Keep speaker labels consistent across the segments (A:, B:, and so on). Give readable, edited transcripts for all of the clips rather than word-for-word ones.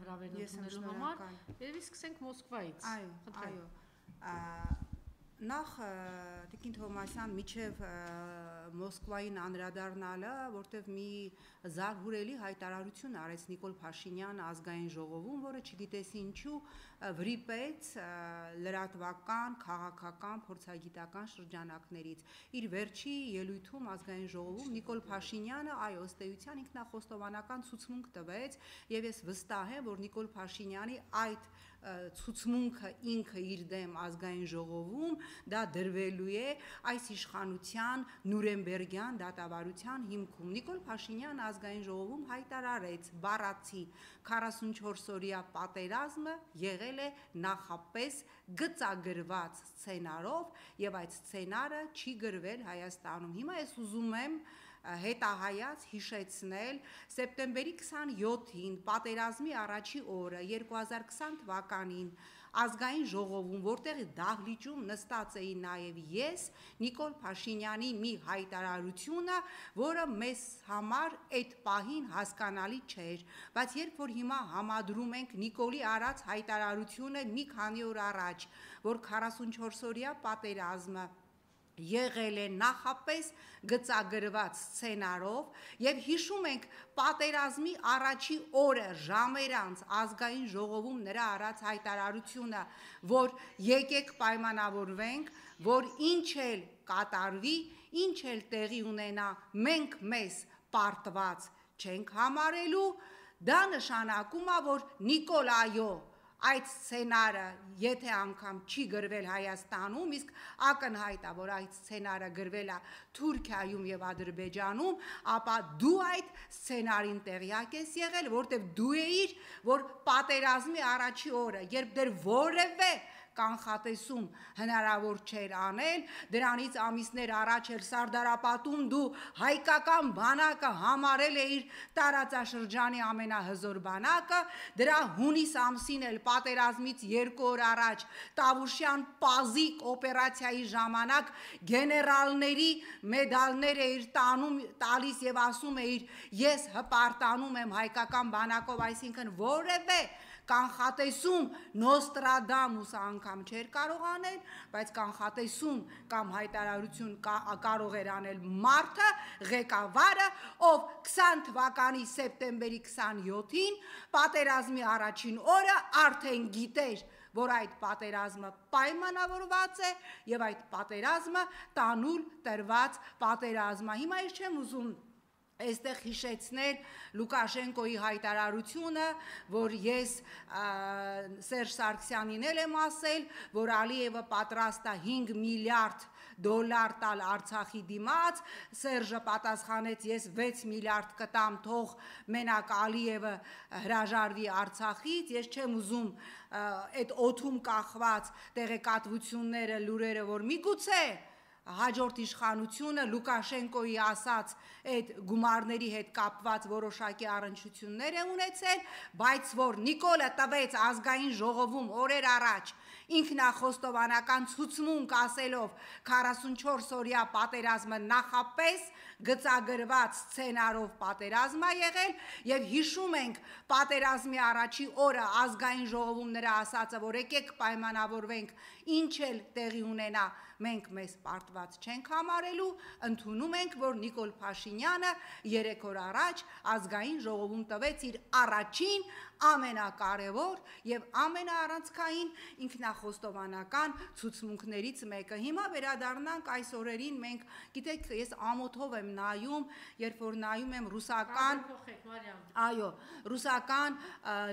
A: հրավերությունելու համար, երևի սկսենք Մոսկվայից։
B: Այո, նախ Տիկին Թովմասյան միջև Մոսկվային անդրադառնալը, որտեղ մի զարհուրելի հայտարարություն արեց Նիկոլ Փաշինյանը ազգային ժողովում, որը չգիտես ինչու վրիպեց լրատվական, քաղաքական, փորձագիտական շրջանակներից։ Իր վերջի ելույթում ազգային ժողովում Նիկոլ Փաշինյանը ըստ էության ինքնախոստովանական ցուցմունք տվեց, եւ ես վստահ եմ, որ Նիկոլ Փաշինյանի այդ ցուցմունքը ինքը իր դեմ ազգային ժողովում դա դրվելու է այս իշխանության Նուրեմբերգյան դատավարության հիմքում։ Նիկոլ Փաշինյանը ազգային ժողովում հայտարարեց բառացի 44-օրյա պատերազմը եղել է նախապես գծագրված սցենարով եւ այդ սցենարը չի գրվել Հայաստանում։ Հիմա ես ուզում եմ հետահայաց հիշեցնել սեպտեմբերի 27-ին պատերազմի առաջի օրը 2020 թվականին ազգային ժողովում, որտեղ դահլիճում նստած էի նաև ես, Նիկոլ Փաշինյանի մի հայտարարությունը, որը մեզ համար այդ պահին հասկանալի չէր, բայց երբ որ հիմա համադրում ենք Նիկոլի արած հայտարարությունը մի քանի օր առաջ, որ 44-օրյա պատերազմը եղել է նախապես գծագրված սցենարով եւ հիշում ենք պատերազմի առաջի օրը ժամեր անց ազգային ժողովում նրա արած հայտարարությունը, որ եկեք պայմանավորվենք, որ ինչ էլ կատարվի, ինչ էլ տեղի ունենա, մենք մեզ պարտված չենք համարելու, դա նշանակում է, որ Նիկոլ այո այդ սցենարը եթե անգամ չի գրվել Հայաստանում, իսկ ակնհայտ է, որ այդ սցենարը գրվել է Թուրքիայում եւ Ադրբեջանում, ապա դու այդ սցենարին տեղյակ ես եղել, որտեղ դու էիր, որ պատերազմի առաջի օրը, երբ դեռ որևէ կանխատեսում հնարավոր չէր անել, դրանից ամիսներ առաջ էր Սարդարապատում դու հայկական բանակը համարել էիր տարածաշրջանի ամենահզոր բանակը, դրա հունիս ամսին էլ պատերազմից 2 օր առաջ Տավուշյան պազիկ օպերացիայի ժամանակ գեներալների մեդալներ էիր տալիս եւ ասում էիր ես հպարտանում եմ հայկական բանակով, այսինքն որևէ կանխատեսում Նոստրադամուս անգամ չէր կարող անել, բայց կանխատեսում կամ հայտարարություն կարող էր անել մարդը, ղեկավարը, ով 20 թվականի սեպտեմբերի 27-ին պատերազմի առաջին օրը արդեն գիտեր, որ այդ պատերազմը պայմանավորված է եւ այդ պատերազմը տանուլ տրված պատերազմ է։ Հիմա ես չեմ ուզում այստեղ հիշեցնել Լուկաշենկոյի հայտարարությունը, որ ես Սերժ Սարգսյանին եմ ասել, որ Ալիևը պատրաստ է $5 միլիարդ տալ Արցախի դիմաց, Սերժը պատասխանեց ես 6 միլիարդ կտամ, թող մենակ Ալիևը հրաժարվի Արցախից, ես չեմ ուզում այդ օդում կախված տեղեկատվությունները, լուրերը, որ միգուցե հաջորդ իշխանությունը Լուկաշենկոյի ասած այդ գումարների հետ կապված որոշակի առնչություններ է ունեցել, բայց որ Նիկոլը տվեց ազգային ժողովում օրեր առաջ ինքնախոստովանական ցուցմունք ասելով 44-օրյա պատերազմը նախապես գծագրված սցենարով պատերազմ է եղել եւ հիշում ենք պատերազմի առաջի օրը ազգային ժողովում նրա ասածը, որ եկեք պայմանավորվենք, ինչ էլ տեղի ունենա, մենք մեզ պարտված չենք համարելու, ընդունում ենք, որ Նիկոլ Փաշինյանը 3 օր առաջ ազգային ժողովում տվեց իր առաջին ամենակարևոր եւ ամենաառանցքային ինքնախոստովանական ցուցմունքներից մեկը։ Հիմա վերադառնանք այս օրերին, մենք գիտեք, ես ամոթով եմ նայում, երբ որ նայում եմ ռուսական, ռուսական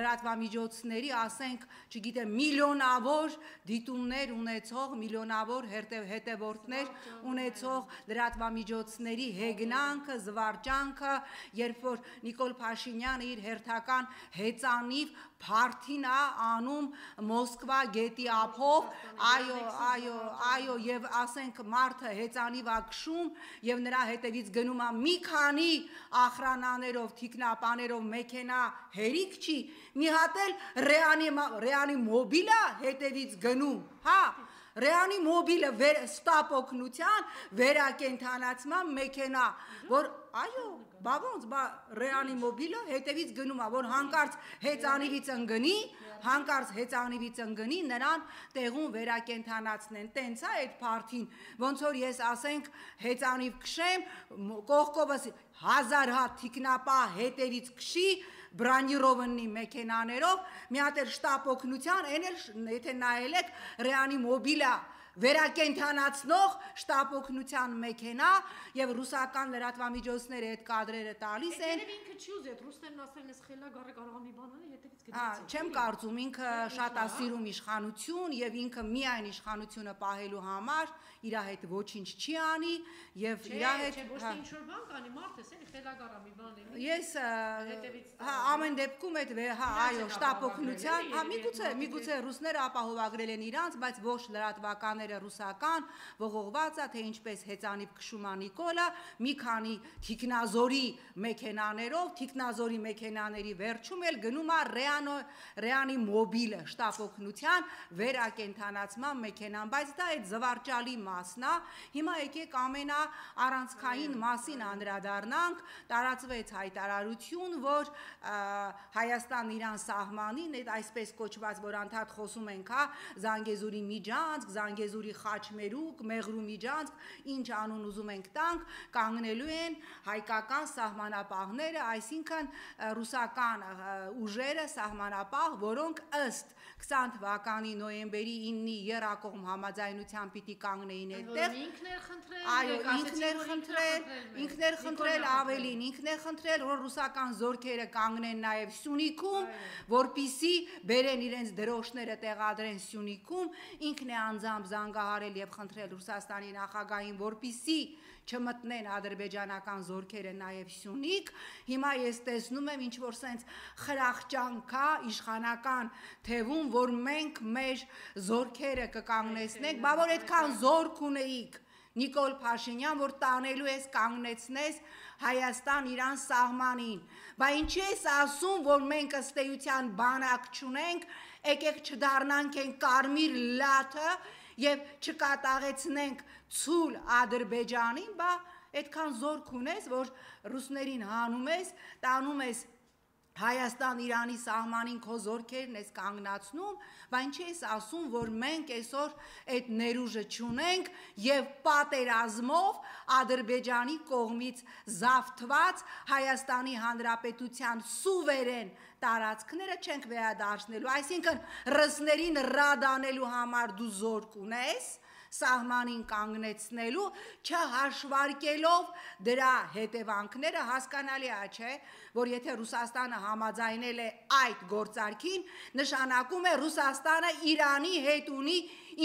B: լրատվամիջոցների, ասենք, չգիտեմ, միլիոնավոր դիտումներ ունեցող, միլիոնավոր հետևորդներ ունեցող լրատվամիջոցների հեգնանքը, զվարճանքը, երբ որ Նիկոլ Փաշինյանը իր հերթական հեծանիվ փարթին է անում Մոսկվա գետի ափով, այո, եւ ասենք մարդը հեծանիվ է քշում եւ նրա հետևից գնում է մի քանի ախրանաներով, թիկնապաներով մեքենա, հերիք չի, մի հատ էլ ռեանի մոբիլը հետևից գնում, հա, ռեանի մոբիլը ստապ օգնության վերակենդանացման մեքենա, որ բա ոնց, բա ռեանիմոբիլը հետևից գնում է, որ հանկարծ հեծանիվից ընկնի, նրան տեղում վերակենդանացնեն, տենց է այդ փարթին, ոնց որ ես ասենք հեծանիվ քշեմ, կողքովս 1000 հատ թիկնապահ հետևից քշի, բրանիրովնի մեքենաներով, մի հատ էլ շտապ օգնության, այն էլ եթե նայել եք ռեանիմոբիլը վերակենդանացնող շտապ օգնության մեքենա եւ ռուսական լրատվամիջոցները այդ կադրերը տալիս են։
A: Երևի ինքը չի ուզի, այդ ռուսներն ասել են, խելագարը կարող է մի բան անել, հետևից գնացի։
B: Չեմ կարծում, ինքը շատ է սիրում իշխանություն եւ ինքը միայն իշխանությունը պահելու համար իր հետ ոչինչ չի անի եւ իր հետ
A: ոչ թե ինչ-որ բան կանի, մարդ էս էլի խելագարը մի բան լինի։
B: Ես ամեն դեպքում այդ այո, շտապ օգնության, միգուցե ռուսները ապահովագրել են իրանց, բայց ոչ լրատվականները ռուսական ողողված է, թե ինչպես հեծանիվ քշում է Նիկոլը, մի քանի թիկնազորի մեքենաներով, թիկնազորի մեքենաների վերջում էլ գնում է ռեանիմոբիլը, շտապ օգնության վերակենդանացման մեքենան, բայց դա այդ զվարճալի մասն է։ Հիմա եկեք ամենաառանցքային մասին անդրադառնանք, տարածվեց հայտարարություն, որ Հայաստան-Իրան սահմանին, այդ այսպես կոչված, որ անդադ խոսում ենք, Զանգեզուրի միջանցք, Զանգեզուրի խաչմերուկ, Մեղրու միջանցք, ինչ անուն ուզում ենք տանք, կանգնելու են հայկական սահմանապահները, այսինքն ռուսական ուժերը սահմանապահ, որոնք ըստ 20 թվականի նոյեմբերի 9-ի եռակողմ համաձայնության պիտի կանգնեին այդտեղ։ Ինքն էր խնդրել ավելին, ինքն էր խնդրել, որ ռուսական զորքերը կանգնեն նաև Սյունիքում, որպիսի բերեն իրենց դրոշները տեղադրեն Սյունիքում, ինքն է անձամբ զանգահարել եւ խնդրել Ռուսաստանի նախագահին, որպիսի չմտնեն ադրբեջանական զորքերը նաև Սյունիք։ Հիմա ես տեսնում եմ ինչ որ սենց խրախճանքա իշխանական թևում, որ մենք մեր զորքերը կկանգնեցնենք, բա որ այդքան զորք ունեիք Նիկոլ Փաշինյան, որ տանելու ես կանգնեցնես Հայաստան-Իրան սահմանին, բա ինչի ես ասում, որ մենք ըստ էության բանակ չունենք, եկեք չդառնանք են կարմիր լաթը եւ չկատաղեցնենք ցուլ Ադրբեջանին, բա այդքան զորք ունես, որ ռուսներին հանում ես, տանում ես Հայաստան-Իրանի սահմանին քո զորքերն ես կանգնացնում, բա ինչի ես ասում, որ մենք այսօր այդ ներուժը չունենք եւ պատերազմով Ադրբեջանի կողմից զավթված Հայաստանի Հանրապետության սուվերեն տարածքները չենք վերադարձնելու, այսինքն ռուսներին ռադանելու համար դու զորք ունես, սահմանին կանգնեցնելու, չհաշվարկելով դրա հետևանքները, հասկանալի է, չէ, որ եթե Ռուսաստանը համաձայնել է այդ գործարքին, նշանակում է Ռուսաստանը Իրանի հետ ունի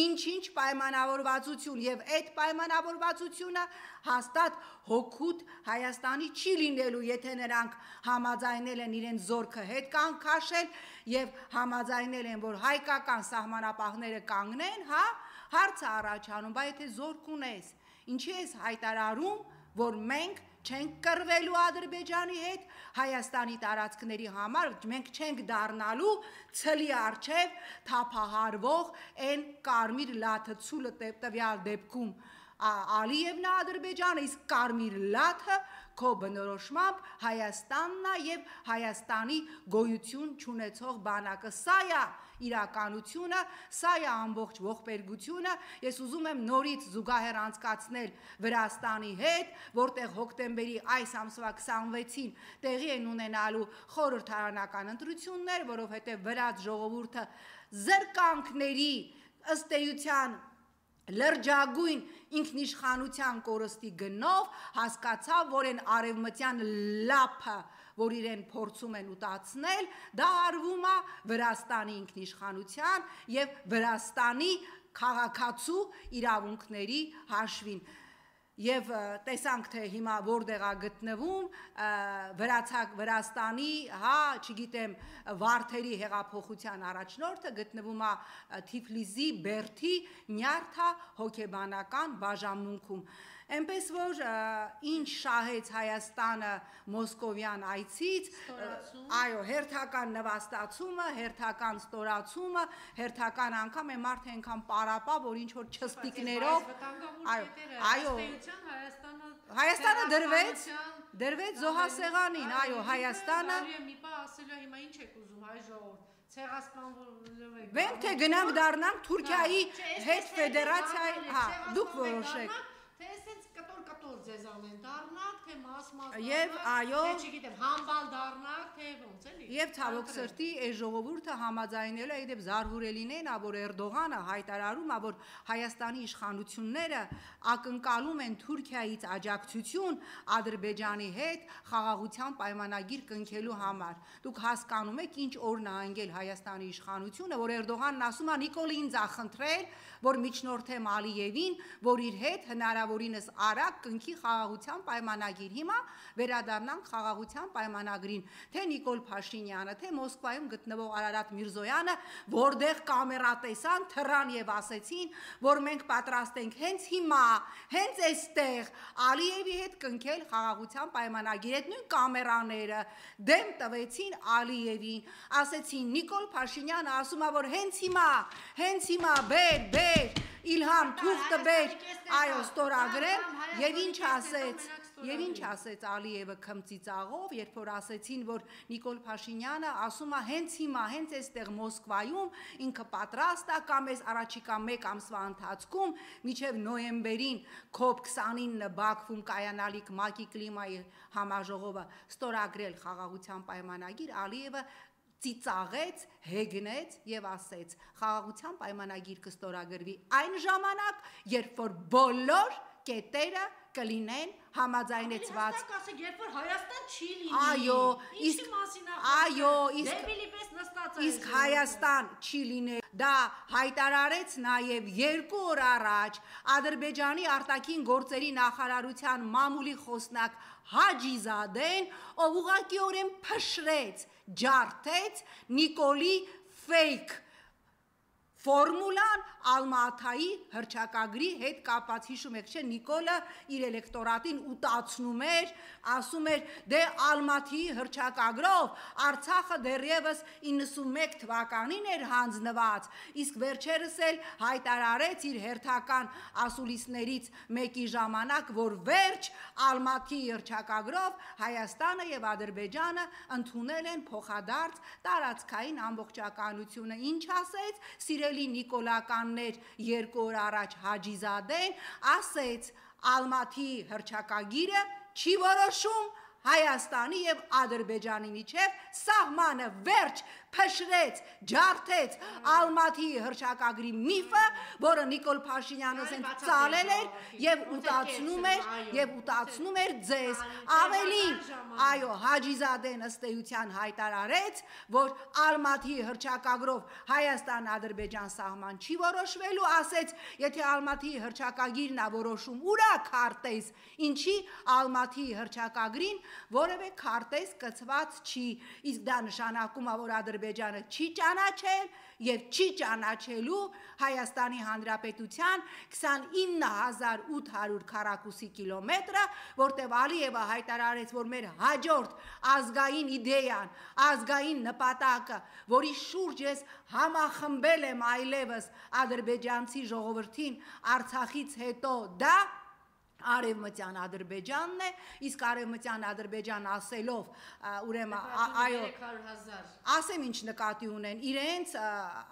B: ինչ-ինչ պայմանավորվածություն եւ այդ պայմանավորվածությունը հաստատ հոգուտ Հայաստանի չի լինելու, եթե նրանք համաձայնել են իրենց զորքը հետ կան քաշել եւ համաձայնել են, որ հայկական սահմանապահները կանգնեն, հարցը առաջանում, բայց եթե զորք ունես, ինչի ես հայտարարում, որ մենք չենք կռվելու Ադրբեջանի հետ, Հայաստանի տարածքների համար, մենք չենք դառնալու ցլի առջև թափահարվող այն կարմիր լաթը ցուլը տվյալ դեպքում Ալիևն է Ադրբեջանը, իսկ կարմիր լաթը քո բնորոշմամբ Հայաստանն է եւ Հայաստանի գոյություն չունեցող բանակը, սա է իրականությունը, սա է ամբողջ ողբերգությունը, ես ուզում եմ նորից զուգահեռ անցկացնել Վրաստանի հետ, որտեղ հոկտեմբերի այս ամսվա 26-ին տեղի են ունենալու խորհրդարանական ընտրություններ, որովհետև վրաց ժողովուրդը զրկանքների ըստ էության լրջագույն ինքնիշխանության կորստի գնով հասկացավ, որ են արևմտյան լափը, որ իրեն փորձում են ուտացնել, դա արվում է Վրաստանի ինքնիշխանության եւ Վրաստանի քաղաքացու իրավունքների հաշվին։ Եվ տեսանք, թե հիմա որտեղ է գտնվում Վրաստանի, չգիտեմ, վարդերի հեղափոխության առաջնորդը, գտնվում է Թիֆլիսի Բերդի Նյարդա հոգեբանական բաժանմունքում։ Այնպես որ ինչ շահեց Հայաստանը Մոսկովյան այցից, այո, հերթական նվաստացումը, հերթական ստորացումը, հերթական անգամ է մարդ այնքան պարապա, որ ինչ որ չստիկներով, այո, Հայաստանը դրվեց զոհասեղանին, այո, Հայաստանը
A: մի բան ասելու հիմա ինչ եք ուզում հայ ժողովուրդ ցեղասպանվելու եք
B: Վեմ թե գնանք դառնանք Թուրքիայի հետ ֆեդերացիայի, հա, դուք որոշեք
A: թե այսպես կտոր ձեզ անեն դառնանք թե մաս
B: Եվ այո
A: թե չգիտեմ համբալ դառնանք թե ոնց էլի
B: Եվ ցավոք սրտի այս ժողովուրդը համաձայնելու է իդեպ զարհուրելին են, որ Էրդողանը հայտարարում է, որ Հայաստանի իշխանությունները ակնկալում են Թուրքիայից աջակցություն Ադրբեջանի հետ խաղաղության պայմանագիր կնքելու համար։ Դուք հասկանում եք ինչ օրն է անգել Հայաստանի իշխանությունը, որ Էրդողանն ասում է Նիկոլին ինձ ա խնդրել, որ միջնորդեմ Ալիևին, որ իր հետ հնարավորինս արագ կնքի խաղաղության պայմանագիր։ Հիմա վերադառնանք խաղաղության պայմանագրին, թե Նիկոլ Փաշինյանը, թե Մոսկվայում գտնվող Արարատ Միրզոյանը, որտեղ կամերա տեսան, թռան եւ ասեցին, որ մենք պատրաստ ենք հենց հիմա, հենց այստեղ Ալիևի հետ կնքել խաղաղության պայմանագիր։ Այդ նույն կամերաները դեմ տվեցին Ալիևին, ասեցին Նիկոլ Փաշինյանը ասում է, որ հենց հիմա բեր Իլհամ թուղթը բեր, այո, ստորագրել եւ ինչ ասեց Ալիևը քմծիծաղով, երբ որ ասեցին, որ Նիկոլ Փաշինյանը ասում է հենց հիմա, հենց այստեղ Մոսկվայում ինքը պատրաստ է կամ այս առաջիկա 1 ամսվա ընթացքում մինչև նոյեմբերին COP29 Բաքվում կայանալիք ՄԱԿ-ի կլիմայի համաժողովը ստորագրել խաղաղության պայմանագիր, Ալիևը ծիծաղեց, հեգնեց եւ ասեց խաղաղության պայմանագիր կստորագրվի այն ժամանակ, երբ որ բոլոր կետերը կլինեն համաձայնեցված։
A: Երբ որ Հայաստան չի լինի։
B: Այո,
A: իսկ
B: Հայաստան չի լինի։ Դա հայտարարեց նաև 2 օր առաջ Ադրբեջանի արտաքին գործերի նախարարության մամուլի խոսնակ Հաջիզադեն, ով ուղղակիորեն փշրեց, ջարդեց Նիկոլի ֆեյք ֆորմուլան Ալմաթայի հռչակագրի հետ կապված հիշում եք, չէ, Նիկոլը իր էլեկտորատին ուտացնում էր, ասում էր, դե Ալմաթիի հռչակագրով Արցախը դեռևս 91 թվականին էր հանձնված, իսկ վերջերս էլ հայտարարեց իր հերթական ասուլիսներից մեկի ժամանակ, որ վերջ Ալմաթիի հռչակագրով Հայաստանը եւ Ադրբեջանը ընդունել են փոխադարձ տարածքային ամբողջականությունը, ինչ ասեց սիրելի նիկոլականներ 2 օր առաջ Հաջիզադեն ասեց Ալմաթիի հռչակագիրը չի որոշում Հայաստանի եւ Ադրբեջանի միջև սահմանը վերջ փշրեց, ջարդեց Ալմաթիի հռչակագրի միֆը, որը Նիկոլ Փաշինյանը ծալել էր եւ ուտացնում էր ձեզ։ Ավելին, այո, Հաջիզադեն ըստ էության հայտարարեց, որ Ալմաթիի հռչակագրով Հայաստան-Ադրբեջան սահման չի որոշվելու, ասեց, եթե Ալմաթիի հռչակագիրն է որոշում, ուրա քարտեզ, ինչի Ալմաթիի հռչակագրին որևէ քարտեզ կցված չի, իսկ դա նշանակում է, որ Ադրբեջանը չի ճանաչել եւ չի ճանաչելու Հայաստանի Հանրապետության 29800 քառակուսի կիլոմետրը, որտեղ Ալիևը հայտարարեց, որ մեր հաջորդ ազգային իդեան, ազգային նպատակը, որի շուրջ ես համախմբել եմ այլևս ադրբեջանցի ժողովրդին Արցախից հետո դա Արևմտյան Ադրբեջանն է, իսկ Արևմտյան Ադրբեջան ասելով, ուրեմն, այո, ասեմ ինչ նկատի ունեն, իրենց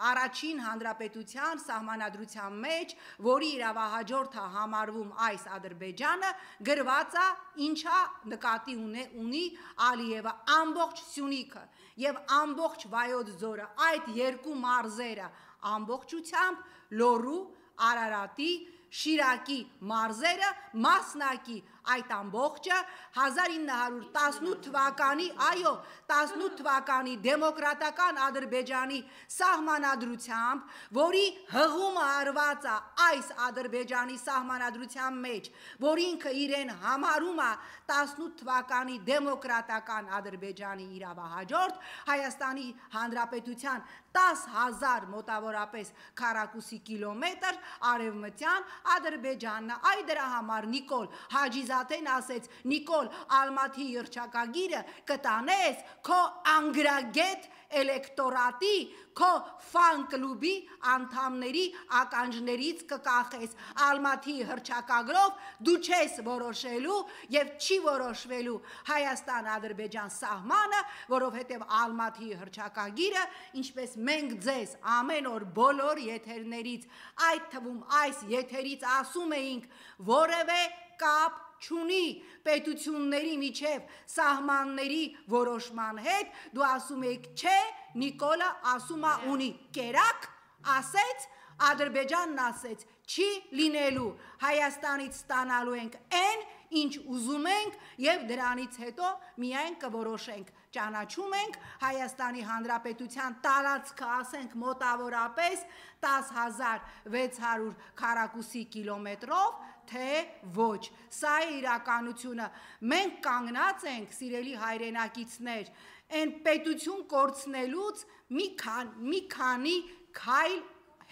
B: առաջին հանրապետության սահմանադրության մեջ, որի իրավահաջորդը համարվում այս Ադրբեջանը, գրված է ինչա նկատի ունի Ալիևը, ամբողջ Սյունիքը եւ ամբողջ Վայոց ձորը, այդ 2 մարզերը ամբողջությամբ Լոռու, Արարատի Շիրակի մարզերը մասնակի այդ ամբողջը 1918 թվականի, այո, 18 թվականի դեմոկրատական Ադրբեջանի սահմանադրությամբ, որի հղումը արված է այս Ադրբեջանի սահմանադրության մեջ, որ ինքը իրեն համարում է 18 թվականի դեմոկրատական Ադրբեջանի իրավահաջորդ, Հայաստանի Հանրապետության 10,000 մոտավորապես քառակուսի կիլոմետր արևմտյան Ադրբեջանն է, այ դրա համար Նիկոլ Հաջիզադեն ասեց, Նիկոլ Ալմաթի հռչակագիրը կտանես քո անգրագետ էլեկտորատի, քո ֆան կլուբի անդամների ականջներից կկախես, Ալմաթի հռչակագրով դու չես որոշելու և չի որոշվելու Հայաստան-Ադրբեջան սահմանը, որովհետև Ալմաթի հռչակագիրը, ինչպես մենք ձեզ ամեն օր բոլոր եթերներից, այդ թվում այս եթերից ասում էինք, որևէ կապ չունի պետությունների միջև սահմանների որոշման հետ, դու ասում եք չէ, Նիկոլը ասում է ունի, կերակ, ասեց, Ադրբեջանն ասեց, չի լինելու, Հայաստանից ստանալու ենք այն, ինչ ուզում ենք և դրանից հետո միայն կորոշենք, ճանաչում ենք Հայաստանի Հանրապետության տարածքը, ասենք մոտավորապես 10,600 քառակուսի կիլոմետրով, թե ոչ, սա է իրականությունը, մենք կանգնած ենք, սիրելի հայրենակիցներ, այն պետություն կորցնելուց մի քանի քայլ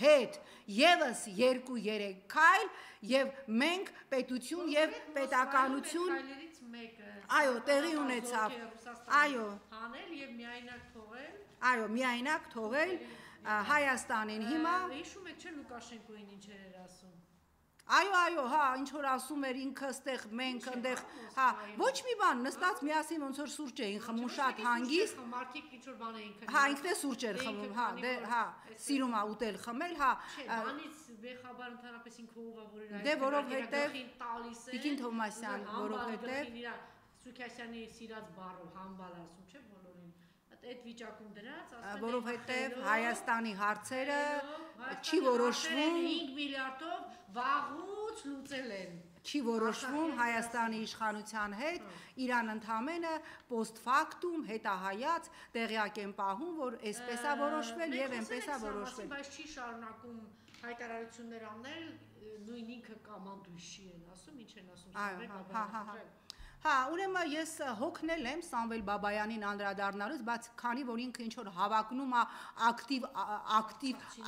B: հետ, ևս 2-3 քայլ, և մենք պետություն և պետականություն, այո, տեղի ունեցավ, այո, միայնակ թողել Հայաստանին հիմա,
A: հիշում եք չէ Լուկաշենկոին ինչեր էր ասում,
B: այո, հա, ինչ որ ասում էր ինքը ստեղ, մենք ընդեղ, հա, ոչ մի բան, նստած միասին ոնց որ սուրճ էին խմում շատ հանգիստ,
A: մարդիկ ինչ որ բան էին քնում,
B: հա, ինքն է սուրճ էր խմում, հա, սիրում է ուտել խմել, հա,
A: բանից բեխաբար ընդհանրապես ինքը ով է, որ իր
B: դե որովհետև Տիկին Թովմասյան, որովհետև
A: Սուքասյանի սիրած բառով համբալ ասում չէ բոլորին, այդ վիճակում դրած,
B: որովհետև Հայաստանի հարցերը չի որոշվում
A: 5 միլիարդով վաղուց լուծել են,
B: չի որոշվում Հայաստանի իշխանության հետ, իրան ընդամենը post factum հետահայաց տեղյակ են պահում, որ այսպես է որոշվել և այնպես է որոշվել։
A: Բայց չի շարունակում հայտարարություններ անել, նույն ինքը կամանդույշի են ասում, ինչ են ասում,
B: Հա, ուրեմն ես հոգնել եմ Սամվել Բաբայանին անդրադառնալուց, բայց քանի որ ինքը ինչ որ հավակնում է ակտիվ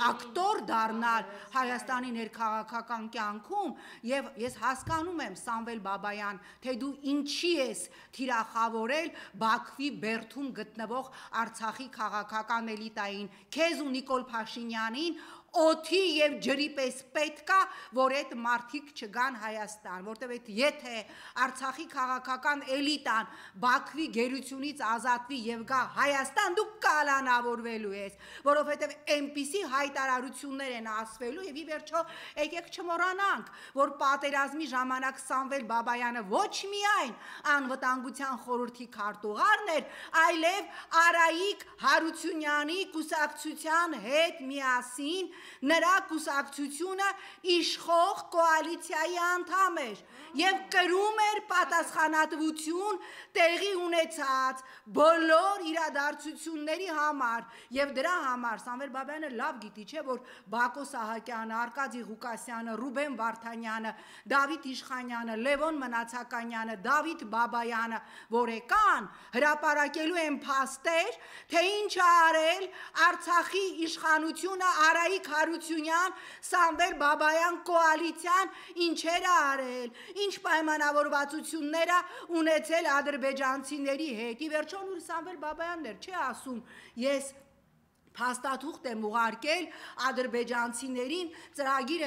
B: ակտոր դառնալ Հայաստանի ներքաղաքական կյանքում, եւ ես հասկանում եմ Սամվել Բաբայան, թե դու ինչի ես թիրախավորել Բաքվի բերդում գտնվող Արցախի քաղաքական էլիտային, քեզ ու Նիկոլ Փաշինյանին օդի և ջրի պես պետք է, որ այդ մարդիկ չգան Հայաստան, որտև այդ եթե Արցախի քաղաքական էլիտան Բաքվի գերությունից ազատվի և գա Հայաստան, դու կալանավորվելու ես, որովհետև այնպիսի հայտարարություններ են ասվելու և ի վերջո եկեք չմոռանանք, որ պատերազմի ժամանակ Սամվել Բաբայանը ոչ միայն անվտանգության խորհրդի քարտուղարն էր, այլև Արայիկ Հարությունյանի կուսակցության հետ միասին նրա կուսակցությունը իշխող կոալիցիայի անդամ էր և կրում էր պատասխանատվություն տեղի ունեցած բոլոր իրադարձությունների համար և դրա համար Սամվել Բաբայանը լավ գիտի չէ, որ Բակո Սահակյանը, Արկադի Ղուկասյանը, Ռուբեն Վարդանյանը, Դավիթ Իշխանյանը, Լևոն Մնացականյանը, Դավիթ Բաբայանը, որ եկան հրապարակելու են փաստեր, թե ինչ է արել Արցախի իշխանությունը Արայիկ Հարությունյան, Սամվել Բաբայան կոալիցիան ինչեր է արել, ինչ պայմանավորվածություններ է ունեցել ադրբեջանցիների հետ, ի վերջո նույն Սամվել Բաբայանն էր, չի ասում, ես փաստաթուղթ եմ ուղարկել ադրբեջանցիներին, ծրագիր